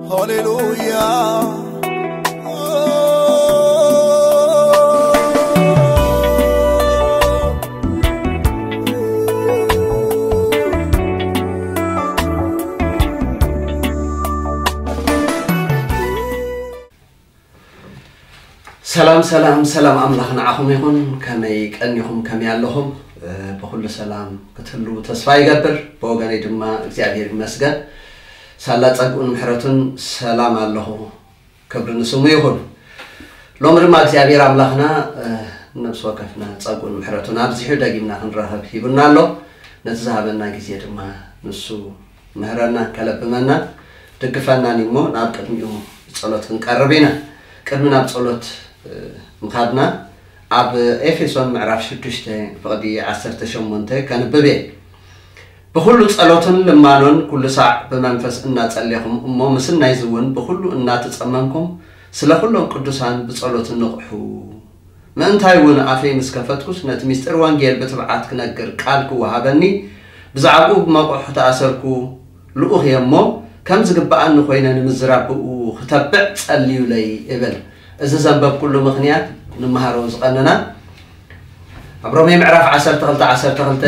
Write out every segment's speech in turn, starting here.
ሃሌሉያ። ሰላም፣ ሰላም፣ ሰላም ኣምላኽ ንዓኹም ይኹን። ከመይ ቀኒኹም? ከመይ ኣለኹም? እ፣ ብኹሉ ሰላም ክትህልዉ ተስፋ ይገብር። ብወገነይ ድማ እግዚኣብሔር ይመስገን። ሳላ ጸግኡን ምሕረቱን ሰላም ኣለኹ። ክብሪ ንስሙ ይኹን። ሎሚ ድማ እግዚኣብሔር ኣምላኽና፣ እ፣ ነፍሲ ወከፍና ጸግኡን ምሕረቱን ኣብዚሑ ደጊምና ክንራኸብ ሂቡና ኣሎ። ነቲ ዝሃበና ግዜ ድማ ንሱ ምህረና፣ ከለብመና፣ ድግፈናን እሞ ናብ ቅድሚኡ ጸሎት ክንቀርብ ኢና። ቅድሚ ናብ ጸሎት፣ እ፣ ምኻድና ኣብ ኤፌሶን ምዕራፍ ሽዱሽተ ፍቕዲ ዓሰርተ ሸሞንተ ከንብብ እየ። ብኹሉ ጸሎትን ልማኖን ኩሉ ሳዕ ብመንፈስ እናጸሌኹም እሞ ምስናይዚ እውን ብኹሉ እናተጸመምኩም ስለ ኩሎም ቅዱሳን ብጸሎት ንቕሑ። ምእንታይ እውን ኣፈይ ምስ ከፈትኩስ ነቲ ምስጢር ወንጌል ብትብዓት ክነግር ቃል ክወሃበኒ ብዛዕባኡ ብመቑሑ ተኣሰርኩ። ልኡኽ እየ እሞ ከም ዝግብኣኒ ኮይነ ንምዝራብ ብኡ ክተብዕ ጸልዩለይ እብል። እዚ ዘንበብኩሉ ምኽንያት ንመሃሮ ዝቐነና ኣብ ሮሜ ምዕራፍ ዓሰርተ ክልተ ዓሰርተ ክልተ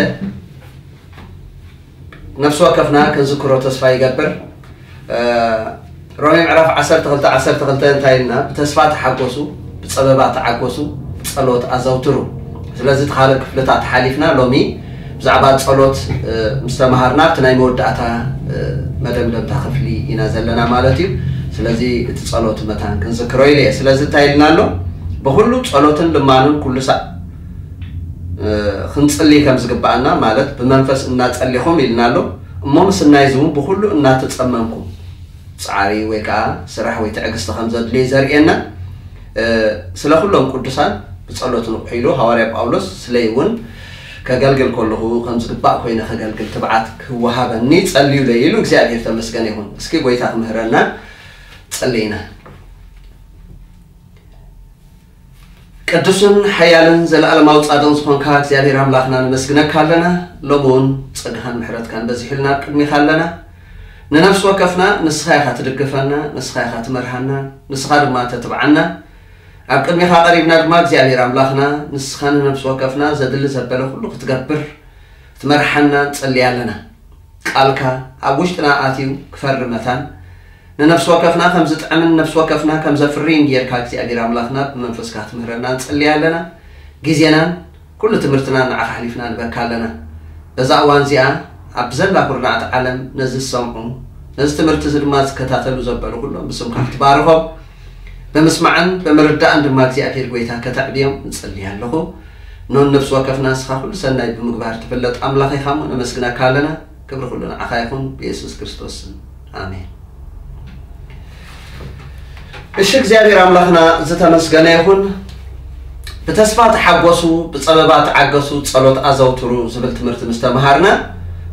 ነፍሲ ወከፍና ክንዝክሮ ተስፋ ይገብር። እ፣ ሮሜ ምዕራፍ ዓሰርተ ክልተ ዓሰርተ ክልተ እንታይ ኢልና? "ብተስፋ ተሓጎሱ፣ ብጸበባ ተዓጎሱ፣ ጸሎት ኣዘውትሩ።" ስለዚ እቲ ካልእ ክፍልታት ሓሊፍና ሎሚ ብዛዕባ ጸሎት፣ እ፣ ምስ ተማሃርና ኣብቲ ናይ መወዳእታ፣ እ፣ መደምደምታ ክፍሊ ኢና ዘለና ማለት እዩ። ስለዚ እቲ ጸሎት መታን ክንዝክሮ ኢለ እየ። ስለዚ እንታይ ኢልና ኣሎ? "ብኹሉ ጸሎትን ልማኑን ኩሉ ሳዕ፣ እ፣ ክንጽሊ ከም ዝግብኣና፣ ማለት ብመንፈስ እናጸሊኹም ኢልና ኣሎ። እሞ ምስናይዚ እውን ብኹሉ እናተጸመምኩም"፣ ጻዕሪ ወይ ከዓ ስራሕ ወይ ትዕግስቲ ከም ዘድልዮ ዘርእየና፣ እ፣ ስለ ኩሎም ቅዱሳን ብጸሎት ንቑሑ ኢሉ ሃዋርያ ጳውሎስ ስለይ እውን ከገልግል ከለኹ ከም ዝግባእ ኮይነ ከገልግል ትብዓት ክወሃበኒ ጸልዩለይ ኢሉ እግዚኣብሔር ተመስገነ ይኹን። እስኪ ጎይታ ክምህረና ጸልይና። ቅዱስን ሓያልን ዘለኣለማዊ ጻድቕን ዝኾንካ እግዚኣብሔር ኣምላኽና ነመስግነካ ኣለና። ሎሚ እውን ጸጋኻን ምሕረትካን በዚሑልና ኣብ ቅድሚኻ ኣለና። ንነፍሲ ወከፍና ንስኻ ኢኻ ትድግፈና፣ ንስኻ ኢኻ ትመርሃና፣ ንስኻ ድማ ተትብዓና። ኣብ ቅድሚኻ ቀሪብና ድማ እግዚኣብሔር ኣምላኽና ንስኻ ንነፍሲ ወከፍና ዘድሊ ዘበለ ኩሉ ክትገብር ክትመርሓና ንጸሊ ኣለና። ቃልካ ኣብ ውሽጥና ኣትዩ ክፈሪ መታን ንነፍሲ ወከፍና ከም ዝጥዕምን ነፍሲ ወከፍና ከም ዘፍርይን ጌርካ እግዚኣብሔር ኣምላኽና ብመንፈስካ ክትምህረና ንጸሊ ኣለና። ግዜናን ኩሉ ትምህርትናን ንዓኻ ኣሕሊፍና ንበካ ኣለና። በዛ እዋን እዚኣ ኣብ ዘላ ኩርናዕቲ ዓለም ነዚ ዝሰምዑ፣ ነዚ ትምህርቲ እዚ ድማ ዝከታተሉ ዘበሉ ኩሎም ብስምካ ክትባርኾም፣ ብምስማዕን ብምርዳእን ድማ እግዚኣብሔር ጎይታ ከተዕብዮም ንጸሊ ኣለኹ። ኖን ነፍሲ ወከፍና ንስኻ ኩሉ ሰናይ ብምግባር ትፍለጥ ኣምላኽ ኢኻ እሞ ነመስግነካ ኣለና። ክብሪ ኩሉ ንዓኻ ይኹን፣ ብየሱስ ክርስቶስ ስም። ኣሜን። እሺ፣ እግዚኣብሔር ኣምላኽና ዝተመስገነ ይኹን። "ብተስፋ ተሓጎሱ፣ ብጸበባ ተዓገሱ፣ ጸሎት ኣዘውትሩ" ዝብል ትምህርቲ ምስ ተምሃርና፣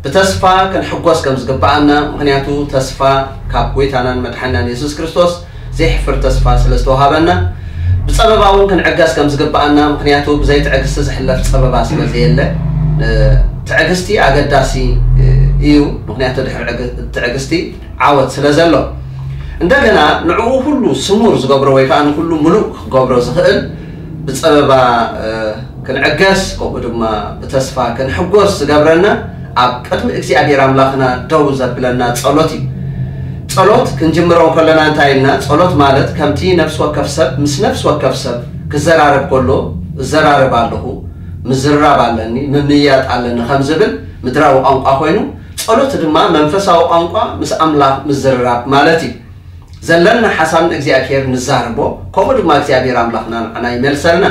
ብተስፋ ክንሕጎስ ከም ዝግብኣና፣ ምኽንያቱ ተስፋ ካብ ጎይታናን መድሓናን የሱስ ክርስቶስ ዘይሕፍር ተስፋ ስለ ዝተዋሃበና፣ ብጸበባ እውን ክንዕገስ ከም ዝግብኣና፣ ምኽንያቱ ብዘይ ትዕግስቲ ዝሕለፍ ጸበባ ስለ ዘየለ፣ እ፣ ትዕግስቲ ኣገዳሲ፣ እ፣ እዩ። ምኽንያቱ ድሕሪ ዕግ-፣ ትዕግስቲ ዓወት ስለ ዘሎ፣ እንደገና ንዕኡ ኩሉ ስሙር ዝገብሮ ወይ ከዓ ንኩሉ ምሉእ ክገብሮ ዝኽእል ብጸበባ፣ እ፣ ክንዕገስ፣ ከምኡ ድማ ብተስፋ ክንሕጎስ ዝገብረና ኣብ ቅድሚ እግዚኣብሔር ኣምላኽና ደው ዘብለና ጸሎት እዩ። ጸሎት ክንጅምሮ ከለና እንታይ ኢልና? ጸሎት ማለት ከምቲ ነፍሲ ወከፍ ሰብ ምስ ነፍሲ ወከፍ ሰብ ክዘራረብ ከሎ፣ "እዘራረብ ኣለኹ፣ ምዝርራብ ኣለኒ፣ ምምይያጥ ኣለኒ" ከም ዝብል ምድራዊ ቋንቋ ኮይኑ፣ ጸሎት ድማ መንፈሳዊ ቋንቋ ምስ ኣምላኽ ምዝርራብ ማለት እዩ። ዘለና ሓሳብ ንእግዚኣብሔር ንዛረቦ፣ ከምኡ ድማ እግዚኣብሔር ኣምላኽና ንዓና ይመልሰልና።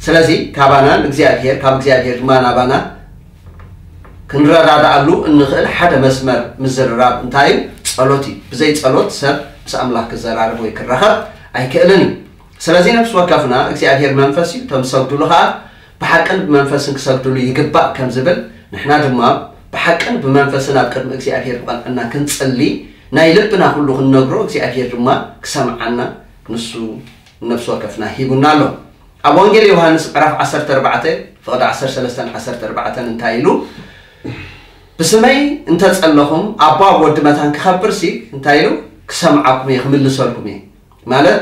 ስለዚ ካባና ንእግዚኣብሔር፣ ካብ እግዚኣብሔር ድማ ናባና ክንረዳድኣሉ እንኽእል ሓደ መስመር ምዝርራብ እንታይ እዩ? ጸሎት እዩ። ብዘይ ጸሎት ሰብ ምስ ኣምላኽ ክዘራረብ ወይ ክራኸብ ኣይክእልን እዩ። ስለዚ ነፍሲ ወከፍና እግዚኣብሔር መንፈስ እዩ፣ እቶም ዝሰግዱሉ ኸኣ ብሓቅን ብመንፈስን ክሰግዱሉ ይግባእ ከም ዝብል፣ ንሕና ድማ ብሓቅን ብመንፈስን ኣብ ቅድሚ እግዚኣብሔር ብቐንዕና ክንጽሊ፣ ናይ ልብና ኩሉ ክንነግሮ፣ እግዚኣብሔር ድማ ክሰምዓና ንሱ ነፍሲ ወከፍና ሂቡና ኣሎ። ኣብ ወንጌል ዮሃንስ ምዕራፍ ዓሰርተ ኣርባዕተ ፍቕዲ ዓሰርተ ሰለስተን ዓሰርተ ኣርባዕተን እንታይ ኢሉ? "ብስመይ እንተጸለኹም ኣቦ ኣብ ወዲ መታን ክኸብርሲ" እንታይ ኢሉ? ክሰምዓኩም እየ፣ ክምልሰልኩም እየ። ማለት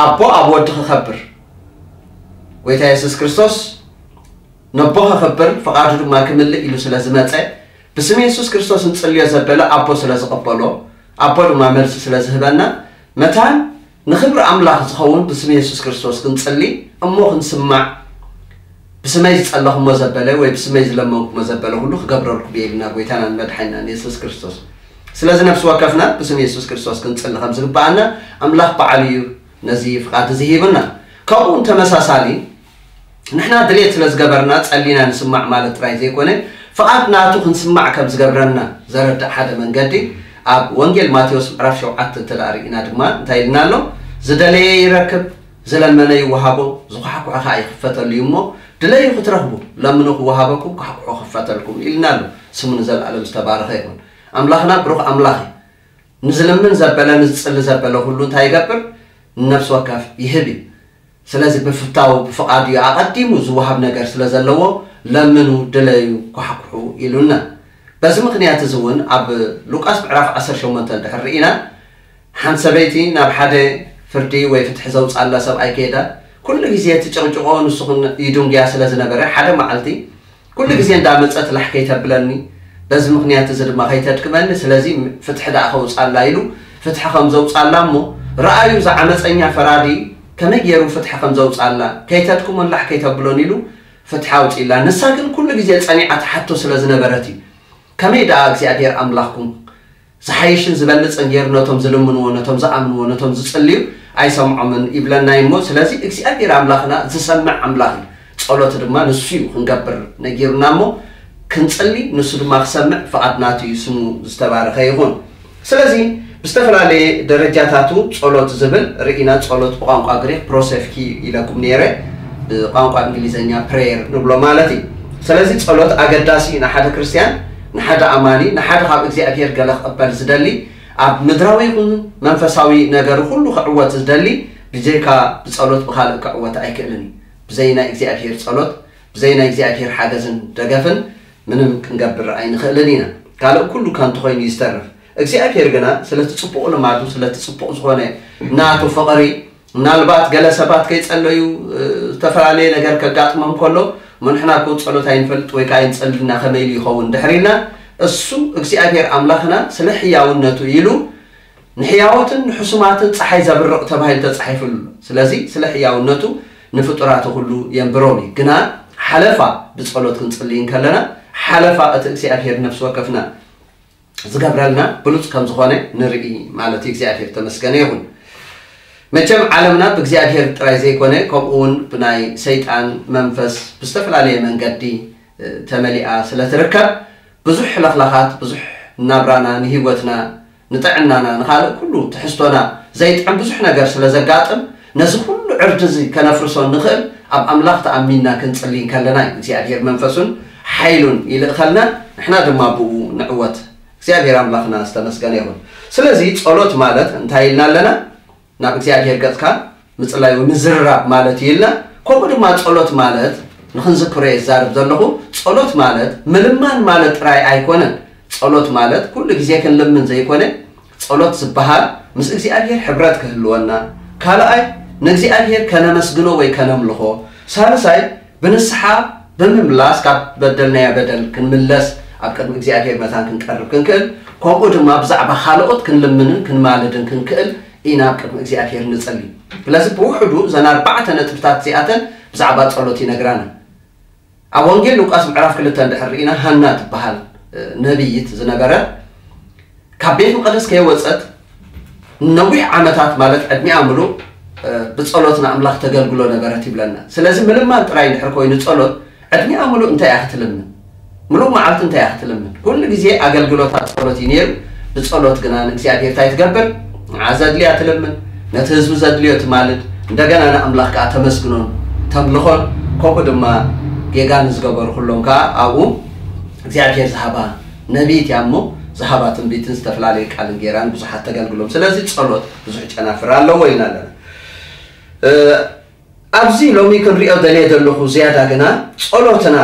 ኣቦ ኣብ ወዲ ክኸብር፣ ጎይታ የሱስ ክርስቶስ ነቦ ክኸብር ፍቓዱ ድማ ክምልእ ኢሉ ስለ ዝመጸ፣ ብስም የሱስ ክርስቶስ እንጽልዮ ዘበለ ኣቦ ስለ ዝቐበሎ፣ ኣቦ ድማ መልሲ ስለ ዝህበና፣ መታን ንኽብሪ ኣምላኽ ዝኸውን ብስም የሱስ ክርስቶስ ክንጽሊ፣ እሞ ክንስማዕ፣ ብስመይ ዝጸለኹሞ ዘበለ ወይ ብስመይ ዝለመንኩሞ ዘበለ ኩሉ ክገብረልኩም እየ ኢልና ጎይታናን መድሓኒናን የሱስ ክርስቶስ። ስለዚ ነፍሲ ወከፍና ብስም የሱስ ክርስቶስ ክንጽሊ ከም ዝግብኣና ኣምላኽ ባዕሉ እዩ ነዚ ፍቓድ እዚ ሂቡና። ከምኡ እውን ተመሳሳሊ ንሕና ድሌት ስለ ዝገበርና ጸሊና ንስማዕ ማለት ጥራይ ዘይኮነ፣ ፍቓድ ናቱ ክንስማዕ ከም ዝገብረና ዘረድእ ሓደ መንገዲ ኣብ ወንጌል ማቴዎስ ምዕራፍ ሸውዓተ እንተ ደኣ ርኢና ድማ እንታይ ኢልና ኣሎ? "ዝደለየ ይረክብ፣ ዝለመነ ይወሃቦ፣ ዝኳሕኩሐ ኸኣ ይኽፈተሉ እዩ እሞ፣ ድለዩ ክትረኽቡ፣ ለምኑ ክወሃበኩም፣ ኳሕኩሑ ክኽፈተልኩም" ኢልና ኣሎ። ስሙ ንዘለኣለም ዝተባረኸ ይኹን። ኣምላኽና ብሩኽ ኣምላኽ እዩ። ንዝልምን ዘበለ፣ ንዝጽሊ ዘበለ ኩሉ እንታይ ይገብር? ንነፍሲ ወከፍ ይህብ እዩ። ስለዚ ብፍታው፣ ብፍቓዱ እዩ። ኣቐዲሙ ዝወሃብ ነገር ስለ ዘለዎ፣ "ለምኑ፣ ድለዩ፣ ኳሕኩሑ" ኢሉና። በዚ ምኽንያት እዚ እውን ኣብ ሉቃስ ምዕራፍ ዓሰርተ ሸሞንተ እንድሕር ርኢና፣ ሓንቲ ሰበይቲ ናብ ሓደ ፍርዲ ወይ ፍትሒ ዘውፅኣላ ሰብኣይ ከይዳ፣ ኩሉ ግዜ ትጭቕጭቖ፣ ንሱ ግን ይድንጉያ ስለ ዝነበረ፣ ሓደ መዓልቲ ኩሉ ግዜ እንዳመፀት ላሕ ከይተብለኒ፣ በዚ ምኽንያት እዚ ድማ ከይተድክመኒ፣ ስለዚ ፍትሒ ደኣ ከውፅኣላ ኢሉ ፍትሒ ከም ዘውፅኣላ እሞ፣ ረኣዩ፣ እዚ ዓመፀኛ ፈራዲ ከመይ ገይሩ ፍትሒ ከም ዘውፅኣላ፣ ከይተድክሞን ላሕ ከይተብሎን ኢሉ ፍትሒ ኣውፂእላ። ንሳ ግን ኩሉ ግዜ ፀኒዓ ትሓቶ ስለ ዝነበረት እዩ። ከመይ ደኣ እግዚኣብሔር ኣምላኽኩም ዝሓይሽን ዝበልጽን ገይሩ ነቶም ዝልምንዎ፣ ነቶም ዝኣምንዎ፣ ነቶም ዝጽልዩ ኣይሰምዖምን ይብለና እዩ እሞ፣ ስለዚ እግዚኣብሔር ኣምላኽና ዝሰምዕ ኣምላኽ እዩ። ጸሎት ድማ ንሱ እዩ ክንገብር ነጊሩና እሞ፣ ክንጽሊ ንሱ ድማ ክሰምዕ ፍቓድ ናቱ እዩ። ስሙ ዝተባረኸ ይኹን። ስለዚ ብዝተፈላለየ ደረጃታቱ ጸሎት ዝብል ርኢና፣ ጸሎት ብቋንቋ ግሪክ ፕሮሴፍኪ ኢለኩም ነይረ፣ ብቋንቋ እንግሊዝኛ ፕሬየር ንብሎ ማለት እዩ። ስለዚ ጸሎት ኣገዳሲ እዩ ንሓደ ክርስትያን፣ ንሓደ ኣማኒ፣ ንሓደ ካብ እግዚኣብሔር ገለ ክቕበል ዝደሊ፣ ኣብ ምድራዊ ይኹን መንፈሳዊ ነገሩ ኩሉ ክዕወት ዝደሊ፣ ብጀካ ብጸሎት ብኻልእ ክዕወት ኣይክእልን እዩ። ብዘይ ናይ እግዚኣብሔር ጸሎት፣ ብዘይ ናይ እግዚኣብሔር ሓገዝን ደገፍን ምንም ክንገብር ኣይንኽእልን ኢና። ካልእ ኩሉ ከንቱ ኮይኑ እዩ ዝተርፍ። እግዚኣብሔር ግና ስለቲ ጽቡቕ ልማዱ፣ ስለቲ ጽቡቕ ዝኾነ ናቱ ፍቕሪ፣ ምናልባት ገለ ሰባት ከይጸለዩ፣ እ፣ ዝተፈላለየ ነገር ከጋጥሞም ከሎ፣ "እሞ ንሕና እኮ ጸሎት ኣይንፈልጥ ወይ ከኣ ኣይንጸልን ኢና፣ ከመይ ኢሉ ይኸውን?" እንድሕር ኢልና፣ እሱ እግዚኣብሔር ኣምላኽና ስለ ሕያውነቱ ኢሉ ንሕያዎትን ንሕሱማትን ጸሓይ ዘብርቕ ተባሂሉ ተጻሒፉሉ ኣሎ። ስለዚ ስለ ሕያውነቱ ንፍጡራቱ ኩሉ የንብሮም እዩ። ግና ሓለፋ ብጸሎት ክንጽልይ እንከለና፣ ሓለፋ እቲ እግዚኣብሔር ነፍሲ ወከፍና ዝገብረልና ብሉጽ ከም ዝኾነ ንርኢ ማለት እዩ። እግዚኣብሔር ተመስገነ ይኹን። መቸም ዓለምና ብእግዚኣብሔር ጥራይ ዘይኮነ፣ ከምኡ እውን ብናይ ሰይጣን መንፈስ ብዝተፈላለየ መንገዲ፣ እ፣ ተመሊኣ ስለ ትርከብ፣ ብዙሕ ለኽላኻት፣ ብዙሕ ናብራና፣ ንህይወትና፣ ንጥዕናና፣ ንኻልእ ኩሉ ትሕዝቶና ዘይጥዕም ብዙሕ ነገር ስለ ዘጋጥም፣ ነዚ ኩሉ ዕርዲ እዚ ከነፍርሶ እንኽእል ኣብ ኣምላኽ ተኣሚንና ክንጽሊ እንከለና እዩ። እግዚኣብሔር መንፈሱን ሓይሉን ይልእኸልና፣ ንሕና ድማ ብኡ ንዕወት። እግዚኣብሔር ኣምላኽና ዝተመስገነ ይኹን። ስለዚ ጸሎት ማለት እንታይ ኢልና ኣለና? ናብ እግዚኣብሔር ገጽካ ምጽላይ ወይ ምዝርራብ ማለት እዩ ኢልና። ከምኡ ድማ ጸሎት ማለት፣ ንኽንዝክሮ እየ ዝዛረብ ዘለኹ፣ ጸሎት ማለት ምልማን ማለት ጥራይ ኣይኮነን። ጸሎት ማለት ኩሉ ግዜ ክንልምን ዘይኮነ፣ ጸሎት ዝበሃል ምስ እግዚኣብሔር ሕብረት ክህልወና፣ ካልኣይ ንእግዚኣብሔር ከነመስግኖ ወይ ከነምልኾ፣ ሳልሳይ ብንስሓ ብምምላስ ካብ በደልናዮ በደል ክንምለስ፣ ኣብ ቅድሚ እግዚኣብሔር መታን ክንቀርብ ክንክእል፣ ከምኡ ድማ ብዛዕባ ካልኦት ክንልምንን ክንማልድን ክንክእል ኢና ኣብ ቅድሚ እግዚኣብሔር ንጽሊ። ስለዚ ብውሕዱ እዘን ኣርባዕተ ነጥብታት እዚኣተን ብዛዕባ ጸሎት ይነግራና። ኣብ ወንጌል ሉቃስ ምዕራፍ ክልተ እንድሕር ርኢና፣ ሃና ትበሃል፣ እ፣ ነቢይት ዝነበረት ካብ ቤት መቕደስ ከይወጸት ነዊሕ ዓመታት፣ ማለት ዕድሚኣ ምሉእ፣ እ፣ ብጸሎት ንኣምላኽ ተገልግሎ ነበረት ይብለና። ስለዚ ምልማን ጥራይ እንድሕር ኮይኑ ጸሎት፣ ዕድሚኣ ምሉእ እንታይ እያ ክትልምን? ምሉእ መዓልቲ እንታይ እያ ክትልምን? ኩሉ ግዜ ኣገልግሎታ ጸሎት እዩ ነይሩ። ብጸሎት ግና ንእግዚኣብሔር እንታይ ትገብር? ንዓ ዘድልያ ትልምን፣ ነቲ ህዝቢ ዘድልዮ ትማልድ፣ እንደገና ንኣምላኽ ከኣ ተመስግኖን ተምልኾን፣ ከምኡ ድማ ጌጋ ንዝገበሩ ኩሎም ከኣ ኣብኡ እግዚኣብሔር ዝሃባ ነቢይት እያ እሞ፣ ዝሃባ ትንቢትን ዝተፈላለዩ ቃልን ገይራን ብዙሓት ተገልግሎም። ስለዚ ጸሎት ብዙሕ ጨናፍር ኣለዎ ኢልና ኣለና። እ፣ ኣብዚ ሎሚ ክንሪኦ ደልየ ዘለኹ ዝያዳ ግና ጸሎትና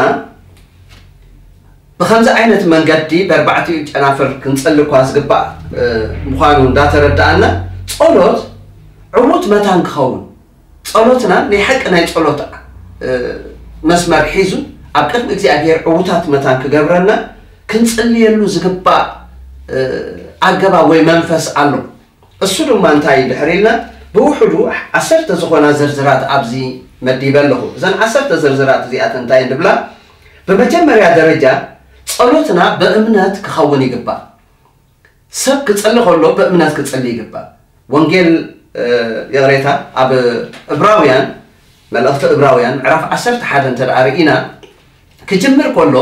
ብኸምዚ ዓይነት መንገዲ በርባዕቲኡ ጨናፍር ክንጸሊ እኳ ዝግባእ ምዃኑ እንዳተረዳኣና፣ ጸሎት ዕዉት መታን ክኸውን፣ ጸሎትና ናይ ሓቂ ናይ ጸሎት መስመር ሒዙ ኣብ ቅድሚ እግዚኣብሔር ዕዉታት መታን ክገብረና ክንጽልየሉ ዝግባእ ኣገባብ ወይ መንፈስ ኣሎ። እሱ ድማ እንታይ ድሕር ኢልና ብውሕዱ ዓሰርተ ዝኾና ዝርዝራት ኣብዚ መዲበ ኣለኹ። እዘን ዓሰርተ ዝርዝራት እዚኣተን እንታይ እንብላ? ብመጀመርያ ደረጃ ጸሎትና ብእምነት ክኸውን ይግባእ። ሰብ ክጸሊ ከሎ ብእምነት ክጸሊ ይግባእ። ወንጌል ይቕሬታ፣ ኣብ እብራውያን፣ መልእኽቲ እብራውያን ምዕራፍ ዓሰርተ ሓደ እንተ ደኣ ርኢና፣ ክጅምር ከሎ፣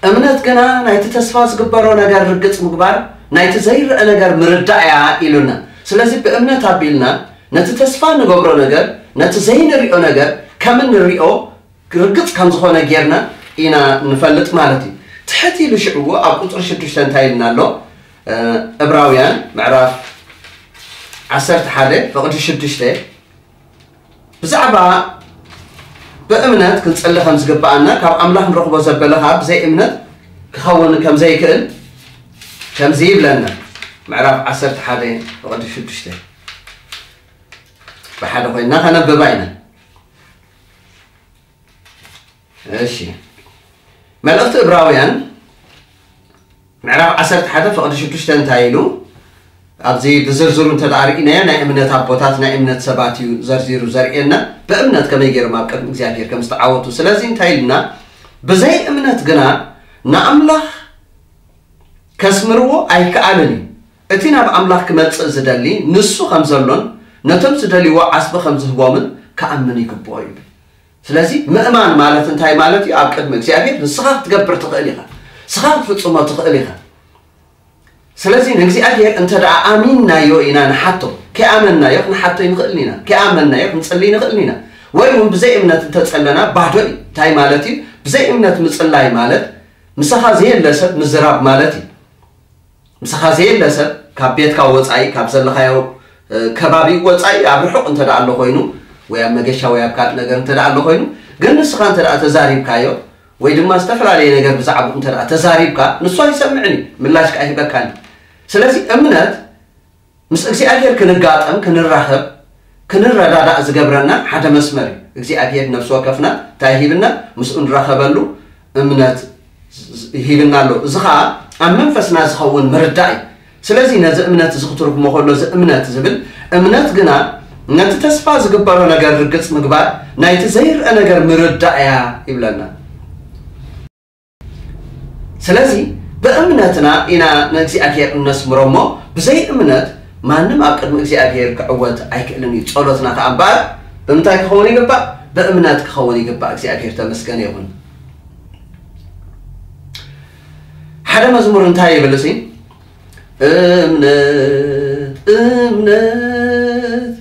እምነት ግና ናይቲ ተስፋ ዝግበሮ ነገር ርግጽ ምግባር፣ ናይቲ ዘይረአ ነገር ምርዳእ እያ ኢሉና። ስለዚ ብእምነት ኣቢልና ነቲ ተስፋ ንገብሮ ነገር፣ ነቲ ዘይንሪኦ ነገር ከም እንሪኦ ርግጽ ከም ዝኾነ ጌርና ኢና ንፈልጥ ማለት እዩ። ትሕት ኢሉ ሽዕዎ ኣብ ቁጽሪ ሽዱሽተ እንታይ ኢልና ኣሎ? እብራውያን ምዕራፍ ዓሰርተ ሓደ ፍቕዲ ሽዱሽተ፣ ብዛዕባ ብእምነት ክንጽሊ ከም ዝግብኣና፣ ካብ ኣምላኽ ንረኽቦ ዘበለ ኸኣ ብዘይ እምነት ክኸውን ከም ዘይክእል ከምዚ ይብለና። ምዕራፍ ዓሰርተ ሓደ ፍቕዲ ሽዱሽተ፣ ብሓደ ኮይንና ከነብባ ኢና። እሺ፣ መልእኽቲ እብራውያን ምዕራፍ ዓሰርተ ሓደ ፍቕዲ ሽዱሽተ እንታይ ኢሉ? ኣብዚ ብዝርዝሩ እንተ ደኣ ርኢናዮ፣ ናይ እምነት ኣቦታት፣ ናይ እምነት ሰባት እዩ ዘርዚሩ ዘርእየና። ብእምነት ከመይ ገይሮም ኣብ ቅድሚ እግዚኣብሔር ከም ዝተዓወቱ። ስለዚ እንታይ ኢልና? ብዘይ እምነት ግና ንኣምላኽ ከስምርዎ ኣይከኣልን እዩ። እቲ ናብ ኣምላኽ ክመጽእ ዝደሊ ንሱ ከም ዘሎን ነቶም ዝደልይዎ ዓስቢ ከም ዝህቦምን ክኣምን ይግብኦ ይብል። ስለዚ ምእማን ማለት እንታይ ማለት እዩ? ኣብ ቅድሚ እግዚኣብሔር ንስኻ ክትገብር ትኽእል ኢኻ። ንስኻ ክትፍጽሞ ትኽእል ኢኻ። ስለዚ ንእግዚኣብሔር እንተ ደኣ ኣሚንናዮ ኢና ንሓቶ። ከይኣመንናዮ ክንሓቶ ይንኽእልን ኢና። ከይኣመንናዮ ክንጽሊ ይንኽእልን ኢና። ወይ እውን ብዘይ እምነት እንተጸለና ባዶ እዩ። እንታይ ማለት እዩ? ብዘይ እምነት ምጽላይ ማለት ምሳኻ ዘየለ ሰብ ምዝራብ ማለት እዩ። ምሳኻ ዘየለ ሰብ ካብ ቤትካ ወጻኢ፣ ካብ ዘለኻዮ ከባቢ ወጻኢ ኣብ ርሑቕ እንተ ደኣ ኣሎ ኮይኑ፣ ወይ ኣብ መገሻ ወይ ኣብ ካልእ ነገር እንተ ደኣ ኣሎ ኮይኑ፣ ግን ንስኻ እንተ ደኣ ተዛሪብካዮ ወይ ድማ ዝተፈላለየ ነገር ብዛዕባኡ እንተ ደኣ ተዛሪብካ፣ ንሱ ኣይሰምዕን እዩ፣ ምላሽ ከኣ ኣይህበካን እዩ። ስለዚ እምነት ምስ እግዚኣብሔር ክንጋጠም፣ ክንራኸብ፣ ክንረዳዳእ ዝገብረና ሓደ መስመር እዩ። እግዚኣብሔር ነፍሲ ወከፍና እንታይ ሂብና? ምስኡ ንራኸበሉ እምነት ሂብና ኣሎ። እዚ ኸኣ ኣብ መንፈስና ዝኸውን ምርዳእ እዩ። ስለዚ ነዚ እምነት እዚ ክትርጉሞ ከሎ፣ እዚ እምነት ዝብል፣ እምነት ግና ነቲ ተስፋ ዝግበሮ ነገር ርግጽ ምግባር፣ ናይቲ ዘይርአ ነገር ምርዳእ እያ ይብለና። ስለዚ ብእምነትና ኢና ንእግዚኣብሔር እነስምሮ እሞ፣ ብዘይ እምነት ማንም ኣብ ቅድሚ እግዚኣብሔር ክዕወት ኣይክእልን እዩ። ጸሎትና ከኣ እምበኣር ብምንታይ ክኸውን ይግባእ? ብእምነት ክኸውን ይግባእ። እግዚኣብሔር ተመስገነ ይኹን። ሓደ መዝሙር እንታይ ይብል እሲ? እምነት፣ እምነት፣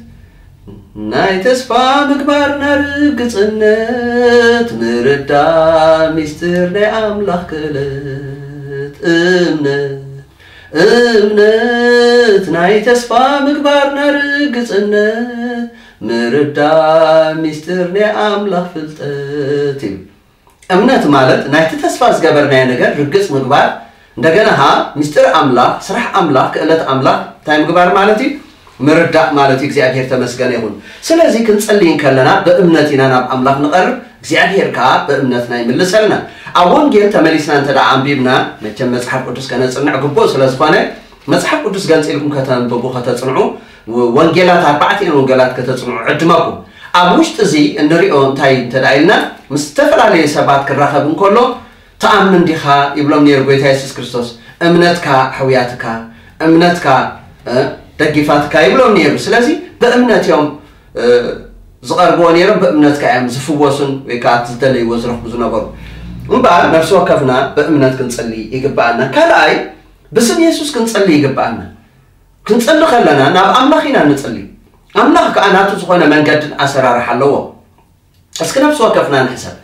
ናይ ተስፋ ምግባርና ርግጽነት፣ ምርዳእ ሚስጥር ናይ ኣምላኽ ክእለት። እምነት፣ እምነት፣ ናይ ተስፋ ምግባርና ርግጽነት፣ ምርዳእ ሚስጥር ናይ ኣምላኽ ፍልጠት እዩ። እምነት ማለት ናይቲ ተስፋ ዝገበርናዮ ነገር ርግጽ ምግባር፣ እንደገና ኸኣ ምስጢር ኣምላኽ፣ ስራሕ ኣምላኽ፣ ክእለት ኣምላኽ እንታይ ምግባር ማለት እዩ? ምርዳእ ማለት እዩ። እግዚኣብሔር ተመስገነ ይኹን። ስለዚ ክንጽሊ እንከለና ብእምነት ኢና ናብ ኣምላኽ ንቐርብ፣ እግዚኣብሔር ከኣ ብእምነትና ይምልሰልና። ኣብ ወንጌል ተመሊስና እንተ ደኣ ኣንቢብና፣ መቸም መጽሓፍ ቅዱስ ከነጽንዕ ግቡእ ስለ ዝኾነ፣ መጽሓፍ ቅዱስ ገንጺልኩም ከተንብቡ፣ ከተጽንዑ፣ ወ-፣ ወንጌላት፣ ኣርባዕቲኤን ወንጌላት ከተጽንዑ ዕድመኩም። ኣብ ውሽጢ እዚ እንሪኦ እንታይ እንተ ደኣ ኢልና፣ ምስ ዝተፈላለዩ ሰባት ክራኸብ እንከሎ፣ "ትኣምን ዲኻ?" ይብሎም ነይሩ ጎይታ የሱስ ክርስቶስ። "እምነትካ ኣሕውያትካ፣ እምነትካ፣ እ፣ ደጊፋትካ" ይብሎም ነይሩ። ስለዚ ብእምነት እዮም፣ እ፣ ዝቐርብዎ ነይሮም፣ ብእምነት ከኣ እዮም ዝፍወሱን ወይ ከኣ እቲ ዝደለይዎ ዝረኽቡ ዝነበሩ። እምበኣር ነፍሲ ወከፍና ብእምነት ክንጽሊ ይግብኣና። ካልኣይ፣ ብስም የሱስ ክንጽሊ ይግብኣና። ክንጽሊ ከለና ናብ ኣምላኽ ኢና ንጽሊ። ኣምላኽ ከኣ ናቱ ዝኾነ መንገድን ኣሰራርሓ ኣለዎ። እስኪ ነፍሲ ወከፍና ንሕሰብ።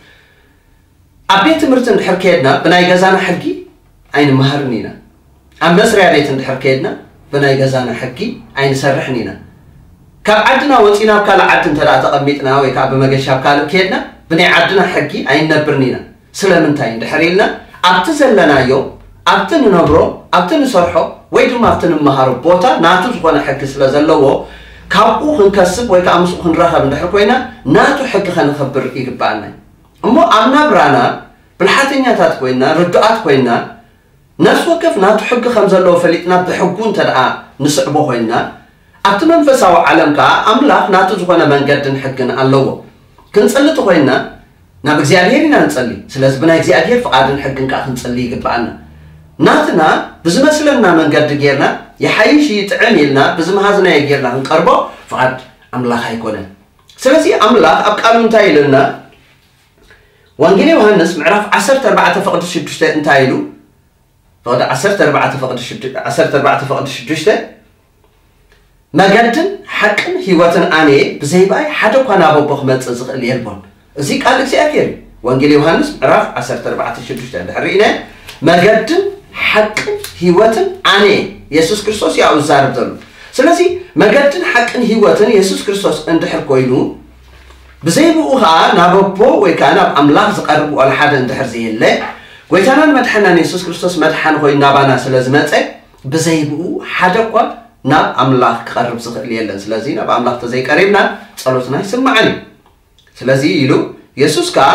ኣብ ቤት ትምህርቲ እንድሕር ከየድና ብናይ ገዛና ሕጊ ኣይንመሃርን ኢና። ኣብ መስርያ ቤት እንድሕር ከየድና ብናይ ገዛና ሕጊ ኣይንሰርሕን ኢና። ካብ ዓድና ወጺና ኣብ ካልእ ዓዲ እንተ ደኣ ተቐሚጥና ወይ ከኣ ብመገሻ ኣብ ካልእ ከየድና ብናይ ዓድና ሕጊ ኣይንነብርን ኢና። ስለምንታይ እንድሕር ኢልና ኣብቲ ዘለናዮ፣ ኣብቲ ንነብሮ፣ ኣብቲ ንሰርሖ ወይ ድማ ኣብቲ ንመሃሮ ቦታ ናቱ ዝኾነ ሕጊ ስለ ዘለዎ፣ ካብኡ ክንከስብ ወይ ከዓ ምስኡ ክንራኸብ እንድሕር ኮይና፣ ናቱ ሕጊ ከነኸብር ይግባኣና እዩ። እሞ ኣብ ናብራና ብልሓተኛታት ኮይና፣ ርዱኣት ኮይና፣ ነፍሲ ወከፍ ናቱ ሕጊ ከም ዘለዎ ፈሊጥና ብሕጉ እንተ ደኣ ንስዕቦ ኮይና፣ ኣብቲ መንፈሳዊ ዓለም ከኣ ኣምላኽ ናቱ ዝኾነ መንገድን ሕግን ኣለዎ። ክንጸሊ እንተ ኮይና፣ ናብ እግዚኣብሔር ኢና ንጸሊ። ስለዚ ብናይ እግዚኣብሔር ፍቓድን ሕግን ከኣ ክንጸሊ ይግብኣና። ናትና ብዝመስለና መንገዲ ጌርና፣ ይሓይሽ ይጥዕም ኢልና ብዝመሃዝናዮ ጌርና ክንቀርቦ ፍቓድ ኣምላኽ ኣይኮነን። ስለዚ ኣምላኽ ኣብ ቃሉ እንታይ ኢሉና? ወንጌል ዮሃንስ ምዕራፍ ዓሰርተ ኣርባዕተ ፍቕዲ ሽዱሽተ እንታይ ኢሉ? ፍቕዲ ዓሰርተ ኣርባዕተ ፍቕዲ ሽዱ-፣ ዓሰርተ ኣርባዕተ ፍቕዲ ሽዱሽተ፣ "መገድን ሓቅን ህይወትን ኣነ እየ፣ ብዘይ ብኣይ ሓደ እኳ ናብ ኣቦ ክመጽእ ዝኽእል የልቦን።" እዚ ቃል እግዚኣብሔር እዩ። ወንጌል ዮሃንስ ምዕራፍ ዓሰርተ ኣርባዕተ ሽዱሽተ እንድሕር ርኢና፣ "መገድን ሓቅን ህይወትን ኣነ እየ።" የሱስ ክርስቶስ እዩ ኣብኡ ዝዛረብ ዘሎ። ስለዚ መገድን ሓቅን ህይወትን የሱስ ክርስቶስ እንድሕር ኮይኑ፣ ብዘይ ብኡ ኸኣ ናብ ኣቦ ወይ ከኣ ናብ ኣምላኽ ዝቐርብ ዋላ ሓደ እንድሕር ዘየለ፣ ጎይታናን መድሓናን የሱስ ክርስቶስ መድሓኒ ኮይኑ ናባና ስለ ዝመጸ፣ ብዘይ ብኡ ሓደ እኳ ናብ ኣምላኽ ክቐርብ ዝኽእል የለን። ስለዚ ናብ ኣምላኽ ተዘይቀሪብና ጸሎትና ኣይስማዕን እዩ። ስለዚ ኢሉ የሱስ ከኣ፣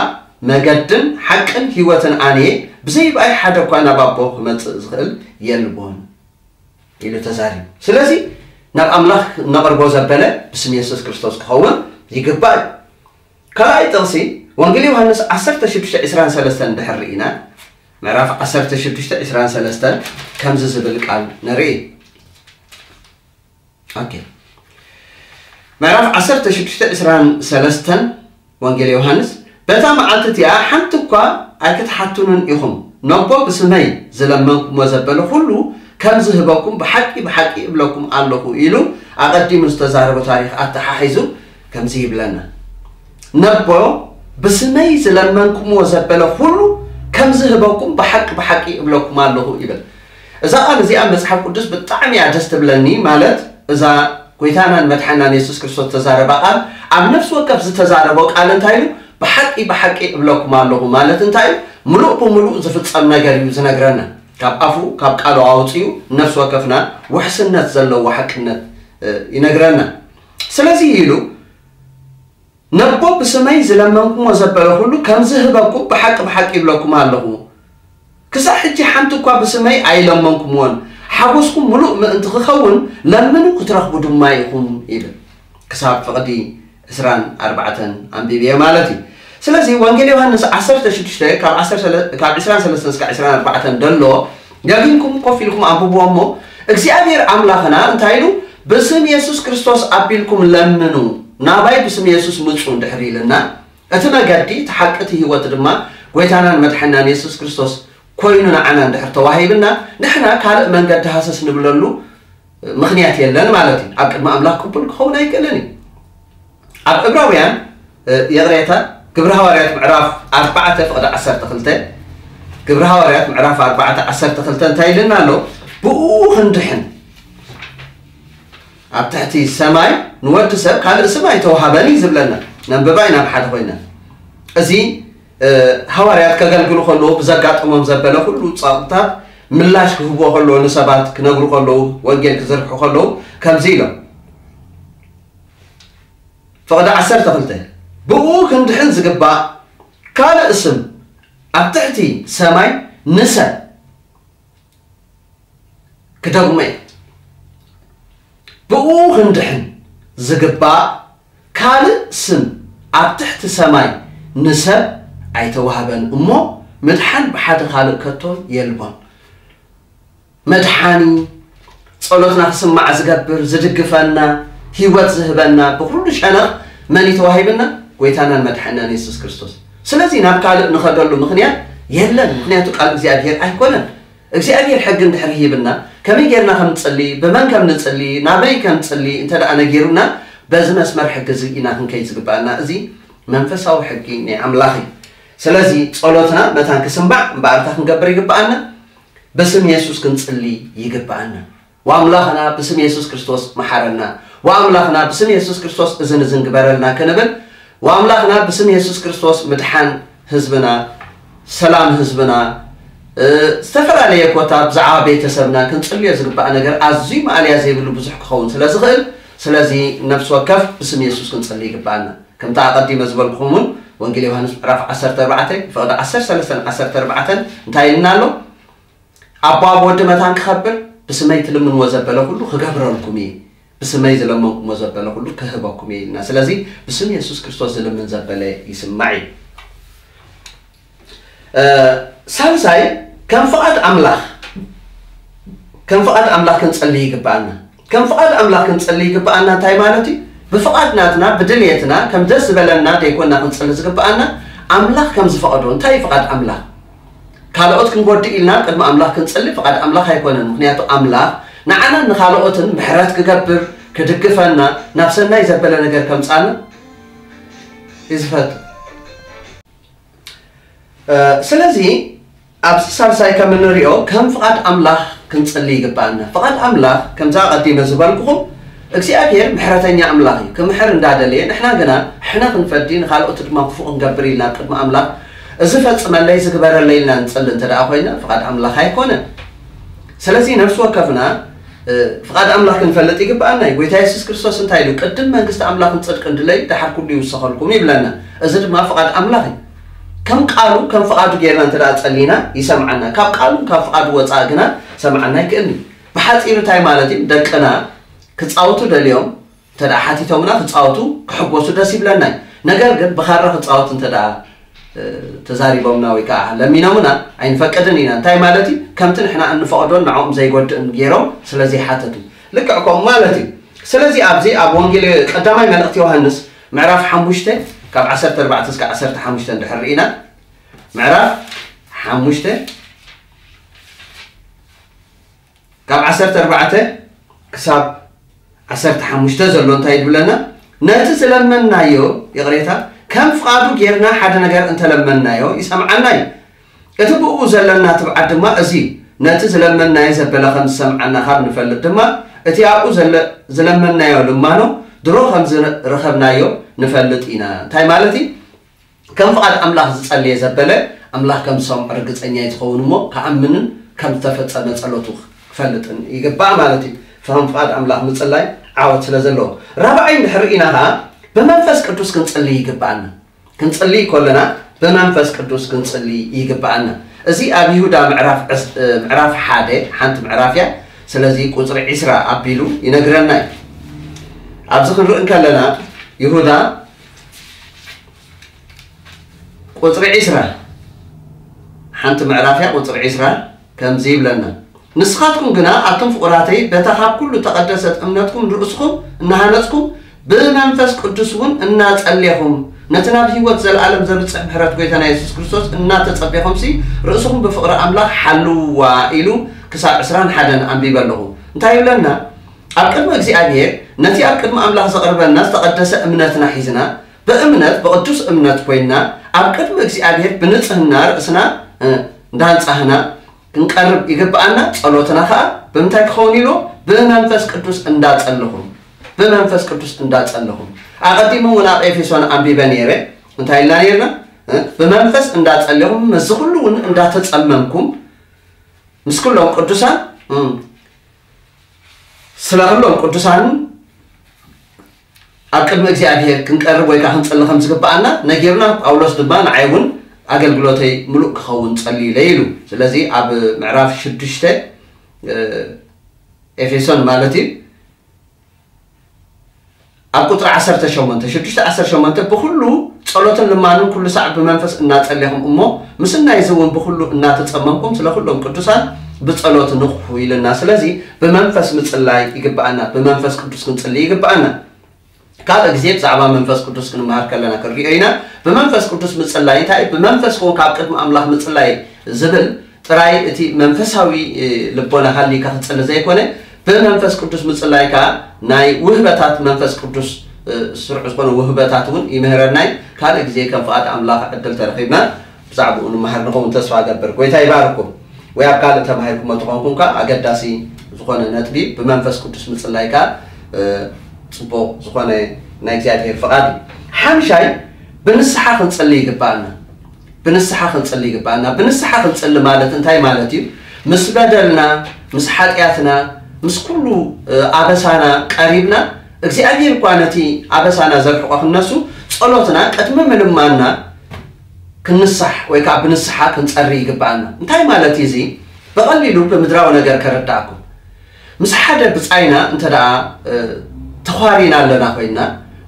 "መገድን ሓቅን ህይወትን ኣነ እየ፣ ብዘይ ብኣይ ሓደ እኳ ናብ ኣቦ ክመጽእ ዝኽእል የልቦን" ኢሉ ተዛሪቡ። ስለዚ ናብ ኣምላኽ ነቕርቦ ዘበለ ብስም የሱስ ክርስቶስ ክኸውን ይግባእ እዩ። ካልኣይ ጥቕሲ፣ ወንጌል ዮሃንስ ዓሰርተ ሽዱሽተ ዕስራን ሰለስተን እንድሕር ርኢና፣ ምዕራፍ ዓሰርተ ሽዱሽተ ዕስራን ሰለስተን ከምዚ ዝብል ቃል ንርኢ። ኦኬ። ምዕራፍ ዓሰርተ ሽዱሽተ ዕስራን ሰለስተን ወንጌል ዮሃንስ፣ "በታ መዓልቲ እቲኣ ሓንቲ እኳ ኣይክትሓቱንን ኢኹም። ነቦ ብስመይ ዝለመንኩሞ ዘበለ ኩሉ ከም ዝህበኩም ብሓቂ ብሓቂ እብለኩም ኣለኹ" ኢሉ ኣቐዲሙ ዝተዛረቦ ታሪኽ ኣተሓሒዙ ከምዚ ይብለና። "ነቦ ብስመይ ዝለመንኩሞ ዘበለ ኩሉ ከም ዝህበኩም ብሓቂ ብሓቂ እብለኩም ኣለኹ" ይብል። እዛ ቃል እዚኣ መጽሓፍ ቅዱስ ብጣዕሚ እያ ደስ ትብለኒ። ማለት እዛ ጎይታናን መድሓናን የሱስ ክርስቶስ ተዛረባ ቃል፣ ኣብ ነፍሲ ወከፍ ዝተዛረቦ ቃል እንታይ ኢሉ? "ብሓቂ ብሓቂ እብለኩም ኣለኹ" ማለት እንታይ እዩ? ምሉእ ብምሉእ ዝፍጸም ነገር እዩ ዝነግረና። ካብ ኣፉ፣ ካብ ቃሉ ኣውፅኡ ነፍሲ ወከፍና ውሕስነት ዘለዎ ሓቅነት፣ እ፣ ይነግረና። ስለዚ ኢሉ፣ "ነቦ ብስመይ ዝለመንኩሞ ዘበለ ኩሉ ከም ዝህበኩም ብሓቂ ብሓቂ ይብለኩም ኣለኹ። ክሳብ ሕጂ ሓንቲ እኳ ብስመይ ኣይለመንኩምዎን። ሓጎስኩም ምሉእ ምእንቲ ክኸውን ለምኑ ክትረኽቡ ድማ ኢኹም" ይብል። ክሳብ ፍቕዲ ዕስራን ኣርባዕተን ኣንቢብየ ማለት እዩ። ስለዚ ወንጌል ዮሃንስ ዓሰርተ ሽዱሽተ ካብ ዓሰርተ፣ ካብ ዕስራን ሰለስተን እስካብ ዕስራን ኣርባዕተን ደሎ ደጊምኩም ኮፍ ኢልኩም ኣንብብዎ እሞ፣ እግዚኣብሔር ኣምላኽና እንታይ ኢሉ? "ብስም የሱስ ክርስቶስ ኣቢልኩም ለምኑ፣ ናባይ ብስም የሱስ ምጹ" እንድሕር ኢልና፣ እቲ መገዲ፣ እቲ ሓቂ፣ እቲ ህይወት ድማ ጎይታናን መድሓናን የሱስ ክርስቶስ ኮይኑ ንዓና እንድሕር ተዋሂብና፣ ንሕና ካልእ መንገዲ ሃሰስ ንብለሉ ምኽንያት የለን ማለት እዩ። ኣብ ቅድሚ ኣምላኽ ቅቡል ክኸውን ኣይክእልን እዩ። ኣብ ዕብራውያን፣ እ፣ ይቕሬታ፣ ግብሪ ሃዋርያት ምዕራፍ ኣርባዕተ ፍቕዲ ዓሰርተ ክልተ፣ ግብሪ ሃዋርያት ምዕራፍ ኣርባዕተ ዓሰርተ ክልተ እንታይ ኢልና ኣሎ? "ብኡ ክንድሕን ኣብ ትሕቲ ሰማይ ንወዲ ሰብ ካልእ ስም ኣይተዋሃበን" እዩ ዝብለና። ነንብባ ኢና ብሓደ ኮይና። እዚ፣ እ፣ ሃዋርያት ከገልግሉ ከለዉ ብዘጋጠሞም ዘበለ ኩሉ ጸቕጥታት ምላሽ ክህብዎ ከለዉ፣ ንሰባት ክነግሩ ከለዉ፣ ወንጌል ክዝርሑ ከለዉ ከምዚ ኢሎም። ፍቕዲ ዓሰርተ ክልተ፣ "ብኡ ክንድሕን ዝግባእ ካልእ ስም ኣብ ትሕቲ ሰማይ ንሰብ" ክደግሞ እየ። "ብኡ ክንድሕን ዝግባእ ካልእ ስም ኣብ ትሕቲ ሰማይ ንሰብ ኣይተዋህበን እሞ፣ ምድሓን ብሓደ ካልእ ከቶ የልቦን።" መድሓኒ፣ ጸሎትና ክስማዕ ዝገብር፣ ዝድግፈና፣ ህይወት ዝህበና፣ ብኩሉ ሸነኽ መን እዩ ተዋሂብና? ጎይታናን መድሓናን የሱስ ክርስቶስ። ስለዚ ናብ ካልእ ንኸደሉ ምኽንያት የለን፣ ምኽንያቱ ቃል እግዚኣብሔር ኣይኮነን። እግዚኣብሔር ሕጊ እንድሕር ሂብና፣ ከመይ ጌርና ከም ንጽሊ፣ ብመን ከም ንጽሊ፣ ናበይ ከም ንጽሊ እንተ ደኣ ነጊሩና፣ በዚ መስመር ሕጊ እዚ ኢና ክንከይድ ዝግባኣና። እዚ መንፈሳዊ ሕጊ ናይ ኣምላኽ እዩ። ስለዚ ጸሎትና መታን ክስማዕ እምበኣርታ ክንገብር ይግባኣና። ብስም የሱስ ክንጽሊ ይግባኣና። ወኣምላኽና ብስም የሱስ ክርስቶስ መሓረና። ወኣምላኽና ብስም የሱስ ክርስቶስ እዝን እዝን ግበረልና ክንብል፣ ወኣምላኽና ብስም የሱስ ክርስቶስ ምድሓን ህዝብና፣ ሰላም ህዝብና፣ እ፣ ዝተፈላለየ ኮታ ብዛዕባ ቤተሰብና ክንጽልዮ ዝግባእ ነገር ኣዝዩ ማእለያ ዘይብሉ ብዙሕ ክኸውን ስለ ዝኽእል፣ ስለዚ ነፍሲ ወከፍ ብስም የሱስ ክንጽሊ ይግባኣና። ከምቲ ኣቐዲመ ዝበልኩኹም እውን ወንጌል ዮሃንስ ምዕራፍ ዓሰርተ ኣርባዕተ ፍቕዲ ዓሰርተ ሰለስተን ዓሰርተ ኣርባዕተን እንታይ ኢልና ኣሎ? ኣቦ ኣብ ወዲ መታን ክኸብር ብስመይ ትልምንዎ ዘበለ ኩሉ ክገብረልኩም እዩ፣ ብስመይ ዝለመንኩሞ ዘበለ ኩሉ ክህበኩም እዩ ኢልና። ስለዚ ብስም የሱስ ክርስቶስ ዝልምን ዘበለ ይስማዕ እዩ። እ፣ ሳልሳይ ከም ፍቓድ ኣምላኽ ከም ፍቓድ ኣምላኽ ክንጸሊ ይግባኣና። ከም ፍቓድ ኣምላኽ ክንጸሊ ይግባኣና እንታይ ማለት እዩ? ብፍቓድ ናትና ብድልየትና ከም ደስ ዝበለና ደይኮና ክንጸሊ ዝግባኣና፣ ኣምላኽ ከም ዝፈቐዶ። እንታይ እዩ ፍቓድ ኣምላኽ? ካልኦት ክንጎድእ ኢልና ቅድሚ ኣምላኽ ክንጸሊ ፍቓድ ኣምላኽ ኣይኮነን። ምክንያቱ ኣምላኽ ንዓናን ንኻልኦትን ምሕረት ክገብር፣ ክድግፈና፣ ናብ ሰናይ ዘበለ ነገር ከምጻና እዩ ዝፈቱ። እ፣ ስለዚ ኣብዚ ሳልሳይ ከም እንሪኦ ከም ፍቓድ ኣምላኽ ክንጽሊ ይግባኣና። ፍቓድ ኣምላኽ ከምዛ ኣቐዲመ ዝበልኩኹም እግዚኣብሔር ምሕረተኛ ኣምላኽ እዩ። ክምሕር እንዳደለየ ንሕና ግና ሕነ ክንፈዲ ንኻልኦት ድማ ክፉእ ክንገብር ኢልና ኣብ ቅድሚ ኣምላኽ እዚ ፈጽመለይ ዝግበረለይ ኢልና ንጽሊ እንተ ደኣ ኮይና ፍቓድ ኣምላኽ ኣይኮነን። ስለዚ ነፍሲ ወከፍና እ፣ ፍቓድ ኣምላኽ ክንፈልጥ ይግብኣና እዩ። ጎይታ የሱስ ክርስቶስ እንታይ ኢሉ? ቅድም መንግስቲ ኣምላኽን ጽድቅን ድለዩ፣ ደሓር ኩሉ ይውሰኸልኩም ይብለና። እዚ ድማ ፍቓድ ኣምላኽ እዩ። ከም ቃሉ ከም ፍቓዱ ጌርና እንተ ደኣ ጸሊና ይሰምዓና። ካብ ቃሉን ካብ ፍቓዱ ወጻእ ግና ሰምዓና ኣይክእልን እዩ። ብሓጺሩ እንታይ ማለት እዩ? ደቅና ክጻወቱ ደልዮም እንተ ደኣ ሓቲቶምና ክጻወቱ ክሕጎሱ ደስ ይብለና እዩ። ነገር ግን ብኻራ ክጻወት እንተ ደኣ ተዛሪቦምና ወይ ከዓ ለሚኖምና ኣይንፈቅድን ኢና። እንታይ ማለት እዩ? ከምቲ ንሕና እንፈቕዶን ንዕኦም ዘይጎድእን ገይሮም ስለ ዘይሓተቱ። ልክዕ ከምኡ ማለት እዩ። ስለዚ ኣብዚ ኣብ ወንጌል ቀዳማይ መልእኽቲ ዮሃንስ ምዕራፍ ሓሙሽተ ካብ ዓሰርተ ኣርባዕተ እስከ ዓሰርተ ሓሙሽተ እንድሕር ርኢና፣ ምዕራፍ ሓሙሽተ ካብ ዓሰርተ ኣርባዕተ ክሳብ ዓሰርተ ሓሙሽተ ዘሎ እንታይ ይብለና? ነቲ ዝለመንናዮ፣ ይቕሬታ፣ ከም ፍቓዱ ጌርና ሓደ ነገር እንተለመንናዮ ይሰምዓና እዩ። እቲ ብእኡ ዘለና ትብዓት ድማ እዚ እዩ። ነቲ ዝለመንናዮ ዘበለ ከም ዝሰምዓና ካብ ንፈልጥ ድማ፣ እቲ ኣብኡ ዘለ-፣ ዝለመንናዮ ልማኖ ድሮ ከም ዝረኸብናዮ ንፈልጥ ኢና። እንታይ ማለት እዩ? ከም ፍቓድ ኣምላኽ ዝጸለየ ዘበለ ኣምላኽ ከም ዝሰምዖ ርግጸኛ እዩ ዝኸውን እሞ ክኣምንን ከም ዝተፈጸመ ጸሎቱ ክፈልጥን ይግባእ ማለት እዩ። ከም ፍቓድ ኣምላኽ ምጽላይ ዓወት ስለ ዘለዎ። ራብዓይ እንድሕር ርኢና ኸኣ ብመንፈስ ቅዱስ ክንጽሊ ይግባኣና። ክንጽሊ ከለና ብመንፈስ ቅዱስ ክንጽሊ ይግባኣና። እዚ ኣብ ይሁዳ ምዕራፍ ዕስ-፣ ምዕራፍ ሓደ ሓንቲ ምዕራፍ እያ። ስለዚ ቁጽሪ ዒስራ ኣቢሉ ይነግረና እዩ። ኣብዚ ክንርኢ እንከለና ይሁዳ ቁጽሪ ዒስራ ሓንቲ ምዕራፍ እያ፣ ቁጽሪ ዒስራ ከምዚ ይብለና፣ ንስኻትኩም ግና ኣቱም ፍቑራተይ በታ ካብ ኩሉ እተቐደሰት እምነትኩም ንርእስኹም እናሃነጽኩም ብመንፈስ ቅዱስ እውን እናጸሌኹም ነቲ ናብ ህይወት ዘለኣለም ዘብጽሕ ምሕረት ጎይታና የሱስ ክርስቶስ እናተጸቤኹምሲ ርእስኹም ብፍቕሪ ኣምላኽ ሓልውዋ ኢሉ ክሳብ ዕስራን ሓደን ኣንቢበ ኣለኹ። እንታይ ይብለና? ኣብ ቅድሚ እግዚኣብሔር ነቲ ኣብ ቅድሚ ኣምላኽ ዘቕርበና ዝተቐደሰ እምነትና ሒዝና ብእምነት ብቕዱስ እምነት ኮይንና ኣብ ቅድሚ እግዚኣብሔር ብንጽህና ርእስና፣ እ፣ እንዳንጻህና ክንቀርብ ይግብኣና። ጸሎትና ኸኣ ብምንታይ ክኸውን ኢሉ? ብመንፈስ ቅዱስ እንዳጸለኹም፣ ብመንፈስ ቅዱስ እንዳጸለኹም። ኣቐዲሙ እውን ኣብ ኤፌሶን ኣንቢበ ነይረ። እንታይ ኢልና ነይርና? እ፣ ብመንፈስ እንዳጸለኹም፣ ምስዚ ኩሉ እውን እንዳተጸመምኩም፣ ምስ ኩሎም ቅዱሳን፣ እ፣ ስለ ኩሎም ቅዱሳን ኣብ ቅድሚ እግዚኣብሔር ክንቀርብ ወይ ከዓ ክንጸሊ ከም ዝግብኣና ነጊሩና። ጳውሎስ ድማ ንዓይ እውን ኣገልግሎተይ ምሉእ ክኸውን ጸልዩለይ ኢሉ። ስለዚ ኣብ ምዕራፍ ሽዱሽተ፣ እ፣ ኤፌሶን ማለት እዩ፣ ኣብ ቁጽሪ ዓሰርተ ሸሞንተ፣ ሽዱሽተ ዓሰርተ ሸሞንተ፣ ብኹሉ ጸሎትን ልማንን ኩሉ ሳዕ ብመንፈስ እናጸለኹም እሞ ምስናይ እዚ እውን ብኹሉ እናተጸመምኩም ስለ ኩሎም ቅዱሳን ብጸሎት ንቕሑ ኢልና። ስለዚ ብመንፈስ ምጽላይ ይግብኣና፣ ብመንፈስ ቅዱስ ክንጽሊ ይግብኣና። ካልእ ግዜ ብዛዕባ መንፈስ ቅዱስ ክንመሃር ከለና ክንሪኦ ኢና። ብመንፈስ ቅዱስ ምጽላይ እንታይ እዩ? ብመንፈስ ክውን ካብ ቅድሚ ኣምላኽ ምጽላይ ዝብል ጥራይ እቲ መንፈሳዊ፣ እ፣ ልቦና ሃሊካ ክትጽሊ ዘይኮነ፣ ብመንፈስ ቅዱስ ምጽላይ ከኣ ናይ ውህበታት መንፈስ ቅዱስ፣ እ፣ ስሩዕ ዝኾነ ውህበታት እውን ይምህረና እዩ። ካልእ ግዜ ከም ፍቓድ ኣምላኽ ዕድል ተረኺብና ብዛዕባኡ ንምሃር ንኸውን ተስፋ እገብር። ጎይታ ይባርኩም። ወይ ኣብ ካልእ ተማሂርኩሞ ተኾንኩም ከኣ ኣገዳሲ ዝኾነ ነጥቢ ብመንፈስ ቅዱስ ምጽላይ ከኣ፣ እ፣ ጽቡቕ ዝኾነ ናይ እግዚኣብሔር ፍቓድ እዩ። ሓምሻይ ብንስሓ ክንጽሊ ይግባኣና። ብንስሓ ክንጽሊ ይግባኣና። ብንስሓ ክንጽሊ ማለት እንታይ ማለት እዩ? ምስ በደልና፣ ምስ ሓጢኣትና፣ ምስ ኩሉ ኣበሳና ቀሪብና፣ እግዚኣብሔር እኳ ነቲ ኣበሳና ዘርሕቆ ክነሱ፣ ጸሎትና ቅድሚ ምልማንና ክንንሳሕ ወይ ከዓ ብንስሓ ክንጸሪ ይግባኣና። እንታይ ማለት እዩ እዚ? ብቐሊሉ ብምድራዊ ነገር ከረዳእኩም። ምስ ሓደ ብጻይና እንተ ደኣ ተዃሪና ኣለና ኮይንና፣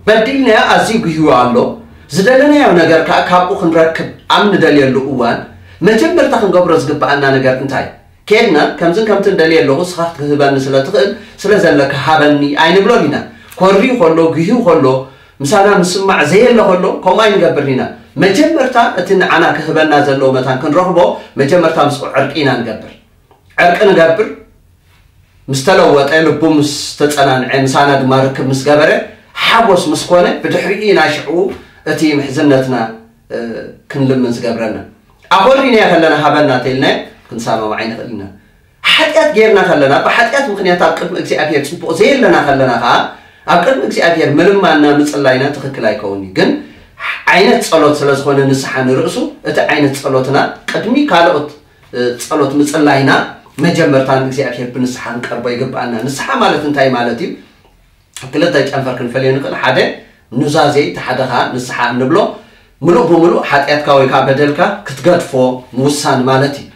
በዲልናዮ፣ ኣዝዩ ጉህዩ ኣሎ፣ ዝደለናዮ ነገር ከዓ ካብኡ ክንረክብ ኣብ ንደልየሉ እዋን፣ መጀመርታ ክንገብሮ ዝግባኣና ነገር እንታይ? ኬድና ከምዝን ከምትን ደልየ ኣለኹ፣ ንስኻ ክትህበኒ ስለ ትኽእል፣ ስለ ዘለካ ሃበኒ ኣይንብሎን ኢና። ኮርዩ ከሎ፣ ጉህዩ ከሎ፣ ምሳና ምስማዕ ዘየለ ከሎ ከምኡ ኣይንገብርን ኢና። መጀመርታ እቲ ንዓና ክህበና ዘለዎ መታን ክንረኽቦ፣ መጀመርታ ምስኡ ዕርቂ ኢና ንገብር። ዕርቂ ንገብር፣ ምስ ተለወጠ፣ ልቡ ምስ ተጸናንዐ፣ ምሳና ድማ ርክብ ምስ ገበረ፣ ሓጎስ ምስ ኮነ፣ ብድሕሪኡ ኢና ሽዕኡ እቲ ምሕዝነትና ክንልምን ዝገብረና። ኣኾሪናዮ ከለና ሃበና ተይልናዮ ክንሰማማዕ ኣይንኽእል ኢና። ሓጢኣት ጌርና ከለና፣ ብሓጢኣት ምኽንያት ኣብ ቅድሚ እግዚኣብሔር ጽቡቕ ዘየለና ከለና ኸኣ፣ ኣብ ቅድሚ እግዚኣብሔር ምልማንና ምጽላይና ትኽክል ኣይከውን እዩ። ግን ዓይነት ጸሎት ስለ ዝኾነ ንስሓ ንርእሱ፣ እቲ ዓይነት ጸሎትና ቅድሚ ካልኦት ጸሎት ምጽላይና መጀመርታ ንእግዚኣብሔር ብንስሓ ክንቀርቦ ይግብኣና። ንስሓ ማለት እንታይ ማለት እዩ? ኣብ ክልተ ጨንፈር ክንፈልዮ ንኽእል። ሓደ ኑዛዜ፣ እቲ ሓደ ኸኣ ንስሓ እንብሎ ምሉእ ብምሉእ ሓጢኣትካ ወይ ከዓ በደልካ ክትገድፎ ምውሳን ማለት እዩ።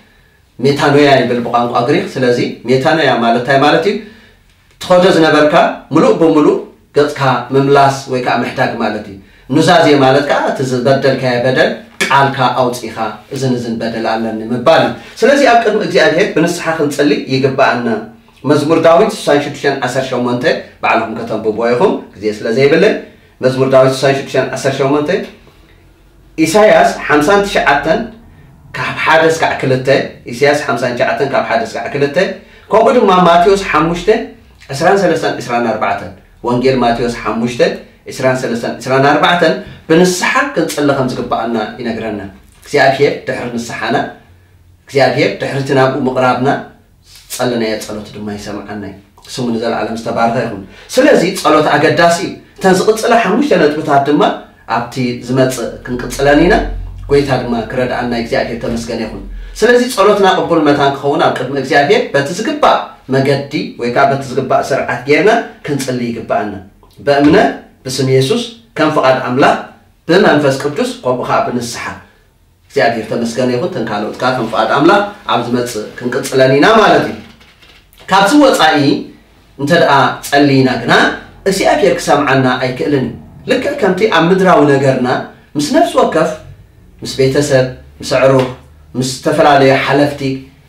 ሜታኖያ ይብል ብቋንቋ ግሪክ። ስለዚ ሜታኖያ ማለት እንታይ ማለት እዩ? ትኸዶ ዝነበርካ ምሉእ ብምሉእ ገጽካ ምምላስ ወይ ከዓ ምሕዳግ ማለት እዩ። ኑዛዜ ማለት ከዓ እቲ ዝበደልካዮ በደል ቃልካ ኣውጺኻ፣ እዝን እዝን በደል ኣለኒ ምባል እዩ። ስለዚ ኣብ ቅድሚ እግዚኣብሔር ብንስሓ ክንጽሊ ይግብኣና። መዝሙር ዳዊት ስሳን ሽዱሽተን ዓሰርተ ሸሞንተ፣ ባዕልኹም ከተንብብዎ ኢኹም፣ ግዜ ስለ ዘይብለይ። መዝሙር ዳዊት ስሳን ሽዱሽተን ዓሰርተ ሸሞንተ፣ ኢሳያስ ሓምሳን ትሽዓተን ካብ ሓደ እስካዕ ክልተ፣ ኢሳያስ ሓምሳን ትሽዓተን ካብ ሓደ እስካዕ ክልተ፣ ከምኡ ድማ ማቴዎስ ሓሙሽተ ዕስራን ሰለስተን ዕስራን ኣርባዕተን፣ ወንጌል ማቴዎስ ሓሙሽተ ዕስራን ሰለስተን ዕስራን ኣርባዕተን ብንስሓ ክንጽሊ ከም ዝግብኣና ይነግረና። እግዚኣብሔር ድሕሪ ንስሓና፣ እግዚኣብሔር ድሕሪ እቲ ናብኡ ምቕራብና፣ ዝጸለናዮ ጸሎት ድማ ይሰምዓና እዩ። ስሙ ንዘለኣለም ዝተባረኸ ይኹን። ስለዚ ጸሎት ኣገዳሲ እዩ። እተን ዝቕጽላ ሓሙሽተ ነጥብታት ድማ ኣብቲ ዝመጽእ ክንቅጽለን ኢና። ጎይታ ድማ ክረድኣና እግዚኣብሔር ተመስገን ይኹን። ስለዚ ጸሎትና ቅቡል መታን ክኸውን ኣብ ቅድሚ እግዚኣብሔር በቲ ዝግባእ መገዲ ወይ ከዓ በቲ ዝግባእ ስርዓት ጌርና ክንጽሊ ይግብኣና። በእምነት ብስም የሱስ ከም ፍቓድ ኣምላኽ ብመንፈስ ቅዱስ ከምኡ ከዓ ብንስሓ እግዚኣብሔር ተመስገነ ይኹን። ተን ካልኦት ከዓ ከም ፍቓድ ኣምላኽ ኣብ ዝመጽእ ክንቅጽለን ኢና ማለት እዩ። ካብዚ ወጻኢ እንተ ደኣ ጸሊና ግና እግዚኣብሔር ክሰምዓና ኣይክእልን እዩ። ልክዕ ከምቲ ኣብ ምድራዊ ነገርና ምስ ነፍሲ ወከፍ፣ ምስ ቤተሰብ፣ ምስ ኣዕሩኽ፣ ምስ ዝተፈላለዩ ሓለፍቲ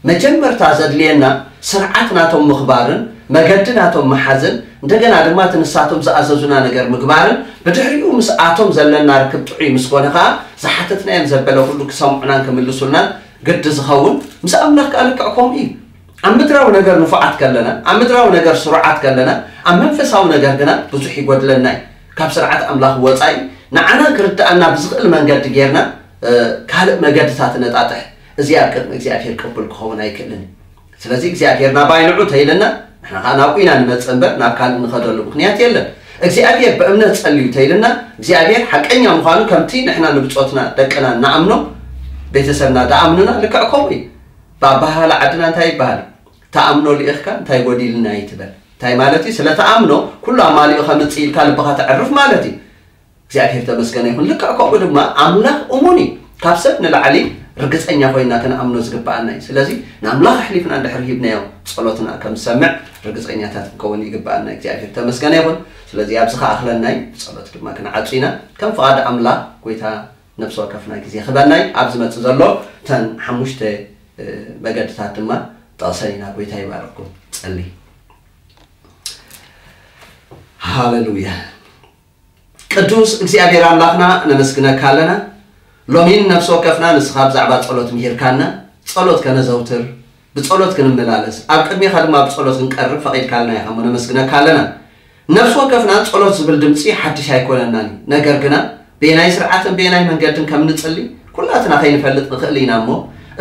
መጀመርታ ዘድልየና ስርዓት ናቶም ምኽባርን መገዲ ናቶም ምሓዝን እንደገና ድማ እቲ ንሳቶም ዝኣዘዙና ነገር ምግባርን ብድሕሪኡ ምስኣቶም ዘለና ርክብ ጥዑይ ምስ ኮነ ከዓ ዝሓተትናዮም ዘበለ ኩሉ ክሰምዑናን ክምልሱልናን ግዲ ዝኸውን ምስ ኣምላኽ ከዓ ልክዕ ከምኡ እዩ። ኣብ ምድራዊ ነገር ንፉዓት ከለና ኣብ ምድራዊ ነገር ስሩዓት ከለና ኣብ መንፈሳዊ ነገር ግና ብዙሕ ይጎድለና እዩ። ካብ ስርዓት ኣምላኽ ወፃኢ ንዓና ክርድኣና ብዝኽእል መንገዲ ጌርና ካልእ መገድታት ነጣጥሕ። እዚ ኣብ ቅድሚ እግዚኣብሔር ቅቡል ክኸውን ኣይክእልን እዩ። ስለዚ እግዚኣብሔር ናባይ ንዑ ተይልና ንሕና ከዓ ናብኡ ኢና ንመፅእ እምበር ናብ ካልእ ንኸደሉ ምኽንያት የለን። እግዚኣብሔር ብእምነት ጸልዩ ተይልና እግዚኣብሔር ሓቀኛ ምዃኑ ከምቲ ንሕና ንብጾትና ደቅና ንኣምኖ ቤተሰብና ደኣምኑና ልክዕ ከምኡ እዩ። ብኣባሃላ ዓድና እንታይ ይበሃል? ተኣምኖ ልኢኽካ እንታይ ጎዲልና ይትበል። እንታይ ማለት እዩ? ስለ ተኣምኖ ኩሉ ኣማሊኡ ከምጽእ ኢልካ ልብኻ ተዕርፍ ማለት እዩ። እግዚኣብሔር ተመስገነ ይኹን። ልክዕ ከምኡ ድማ ኣምላኽ እሙን እዩ። ካብ ሰብ ንላዕሊ ርግጸኛ ኮይና ክንኣምኖ ዝግብኣና እዩ። ስለዚ ንኣምላኽ ኣሕሊፍና እንድሕር ሂብናዮ ጸሎትና ከም ዝሰምዕ ርግጸኛታት ክንከውን ይግብኣና። እግዚኣብሔር ተመስገነ ይኹን። ስለዚ ኣብዚ ከኣኽለናይ ብጸሎት ድማ ክንዓጹ ኢና። ከም ፍቓድ ኣምላኽ ጎይታ ነብሲ ወከፍና ግዜ ክበናይ ኣብ ዝመጽእ ዘሎ ተን ሓሙሽተ መገድታት ድማ ጠቕሰን ኢና። ጎይታ ይባርኩም። ጸሊ። ሃሌሉያ። ቅዱስ እግዚኣብሔር ኣምላኽና ነመስግነካ ኣለና። ሎሚን ነፍሲ ወከፍና ንስኻ ብዛዕባ ጸሎት ምሂርካና፣ ጸሎት ከነዘውትር፣ ብጸሎት ክንመላለስ፣ ኣብ ቅድሜኻ ድማ ብጸሎት ክንቀርብ ፈቒድካልና ኢኻ እሞ ነመስግነካ ኣለና። ነፍሲ ወከፍና ጸሎት ዝብል ድምጺ ሓድሽ ኣይኮነናን እዩ። ነገር ግና ብየናይ ስርዓትን ብየናይ መንገድን ከም ንጽሊ ኩላትና ከይንፈልጥ ንኽእል ኢና እሞ፣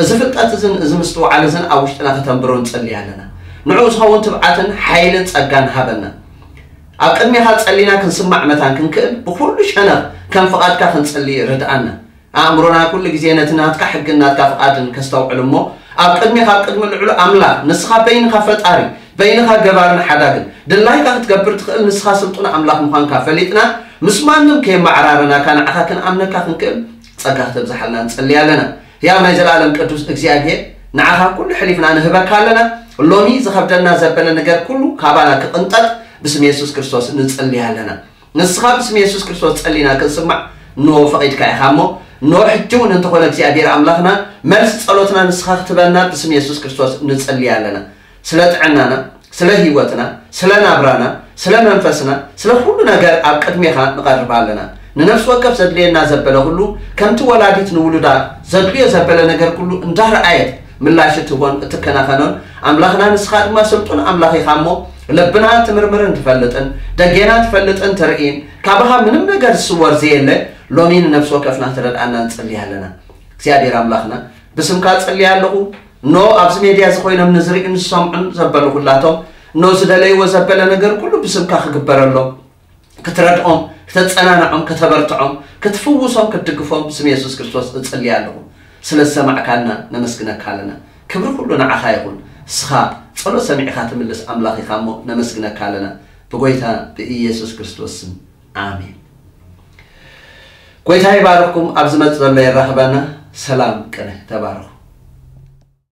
እዚ ፍልጠት እዝን እዚ ምስትውዓል እዝን ኣብ ውሽጥና ከተንብሮ ንጸሊ ኣለና። ንዕኡ ዝኸውን ትብዓትን ሓይልን ጸጋን ሃበና። ኣብ ቅድሜኻ ጸሊና ክንስማዕ መታን ክንክእል ብኹሉ ሸነኽ ከም ፍቓድካ ክንጸሊ ርድኣና። ኣእምሮና ኩሉ ግዜ ነቲ ናትካ ሕግን ናትካ ፍቓድን ከስተውዕል እሞ፣ ኣብ ቅድሚ ካብ ቅድሚ ልዕሉ ኣምላኽ፣ ንስኻ በይንኻ ፈጣሪ፣ በይንኻ ገባርን ሓዳግን፣ ድላይካ ክትገብር ትኽእል፣ ንስኻ ስልጡን ኣምላኽ ምዃንካ ፈሊጥና፣ ምስ ማንም ከየመዓራረናካ ንዓኻ ክንኣምነካ ክንክእል ጸጋ ክተብዝሓልና ንጸሊ ኣለና። ያው ናይ ዘለኣለም ቅዱስ እግዚኣብሔር፣ ንዓኻ ኩሉ ሕሊፍና ንህበካ ኣለና። ሎሚ ዝኸብደና ዘበለ ነገር ኩሉ ካባና ክቕንጠጥ ብስም የሱስ ክርስቶስ ንጸሊ ኣለና። ንስኻ ብስም የሱስ ክርስቶስ ጸሊና ክንስማዕ እንሆ ፈቒድካ ኢኻ እሞ፣ እንሆ ሕጂ እውን እንተኾነ እግዚኣብሔር ኣምላኽና፣ መልሲ ጸሎትና ንስኻ ክትበና ብስም የሱስ ክርስቶስ ንጸሊ ኣለና። ስለ ጥዕናና፣ ስለ ህይወትና፣ ስለ ናብራና፣ ስለ መንፈስና፣ ስለ ኩሉ ነገር ኣብ ቅድሜኻ ንቐርብ ኣለና። ንነፍሲ ወከፍ ዘድልየና ዘበለ ኩሉ፣ ከምቲ ወላዲት ንውሉዳ ዘድልዮ ዘበለ ነገር ኩሉ እንዳረኣየት ምላሽ እትህቦን እትከናኸኖን ኣምላኽና ንስኻ ድማ ስልጡን ኣምላኽ ኢኻ እሞ፣ ልብና ትምርምርን ትፈልጥን፣ ደጌና ትፈልጥን ትርኢን፣ ካባኻ ምንም ነገር ዝስወር ዘየለ፣ ሎሚ ንነፍሲ ወከፍና ትረድኣና ንጽሊ ኣለና። እግዚኣብሔር ኣምላኽና፣ ብስምካ ጽሊ ኣለኹ። ኖ ኣብዚ ሜድያ እዚ ኮይኖም ንዝርእዩን ዝሰምዑን ዘበሉ ኩላቶም፣ ኖ ዝደለይዎ ዘበለ ነገር ኩሉ ብስምካ ክግበረሎም፣ ክትረድኦም፣ ክተጸናንዖም፣ ከተበርትዖም፣ ክትፍውሶም፣ ክትድግፎም ብስም የሱስ ክርስቶስ እጽሊ ኣለኹ። ስለ ዝሰማዕካና ነመስግነካ ኣለና። ክብሪ ኩሉ ንዓኻ ይኹን። ንስኻ ጸሎት ሰሚዕኻ ትምልስ ኣምላኽ ኢኻ እሞ ነመስግነካ ኣለና። ብጎይታ ብኢየሱስ ክርስቶስ ስም፣ ኣሜን። ጎይታ ይባርኽኩም። ኣብ ዝመጽእ ዘሎ የራኽበና። ሰላም ቅነ። ተባረኹ።